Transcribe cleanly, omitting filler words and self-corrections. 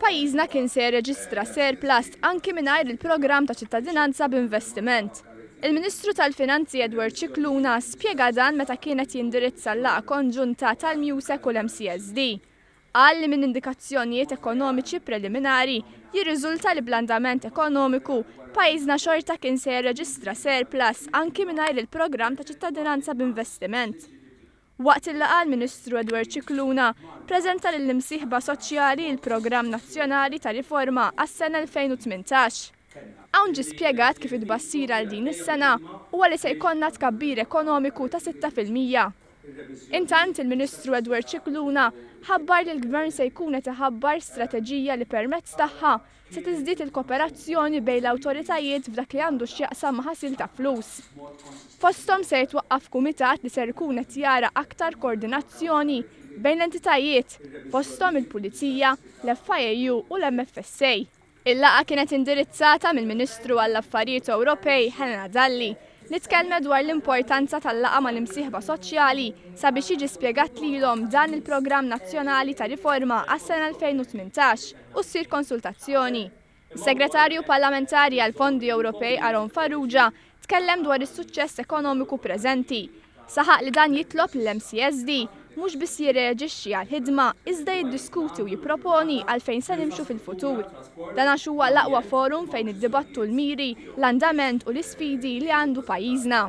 pajjiżna kien se jirreġistra surplus anki mingħajr il-programm ta' ċittadinanza b'investiment. Il-Ministru tal-Finanzi Edward Scicluna spjega dan meta kien qed jindirizza l-laqgħa konġunta tal-MUSEC u l-MCSD. Qal li minn indikazzjonijiet ekonomiċi preliminari jirriżulta li bl-andament ekonomiku, pajjiżna xorta kien se jirreġistra surplus anki mingħajr il-programm ta' ċittadinanza b'investiment. Waqt il-laqgħa l-Ministru Edward Scicluna preżenta lill-imsieħba soċjali l-Programm Nazzjonali ta' Riforma għas-sena 2018. Hawn ġie spjegat kif it-tbassir għal din is-sena huwa li se jkollna tkabbir ekonomiku ta' 6%. Intant, il-Ministru Edward Scicluna ħabbar li l-Gvern se jkun qed iħabbar strateġija li permezz tagħha se tiżdied il-kooperazzjoni bejn l-awtoritajiet f'dak li għandu x'jaqsam ma' ħasil ta' flus. Fosthom se jitwaqqaf kumitat li ser ikun qed jara aktar koordinazzjoni bejn l-entitajiet, fosthom il-Pulizija, l-FIAU u l-MFSA. Il-laqgħa kienet indirizzata mill-Ministru għall-Affarijiet Ewropej Helena Dalli, li tkellmet dwar l-importanza tal-laqgħa mal-imsieħba soċjali sabiex jiġi spjegat lilhom dan il-Programm Nazzjonali ta' Riforma għas-sena 2018 u ssir konsultazzjoni. Is-Segretarju Parlamentari għall-Fondi Ewropej Aaron Farrugia tkellem dwar is-suċċess ekonomiku preżenti. Saħaq li dan jitlob lill-MCSD mhux biss jirreaġixxi għall-ħidma iżda jiddiskuti u jipproponi għal fejn se nimxu fil-futur. Dan għax huwa l-aqwa forum fejn iddibattu l-miri, l-andament u l-isfidi li għandu pajjiżna.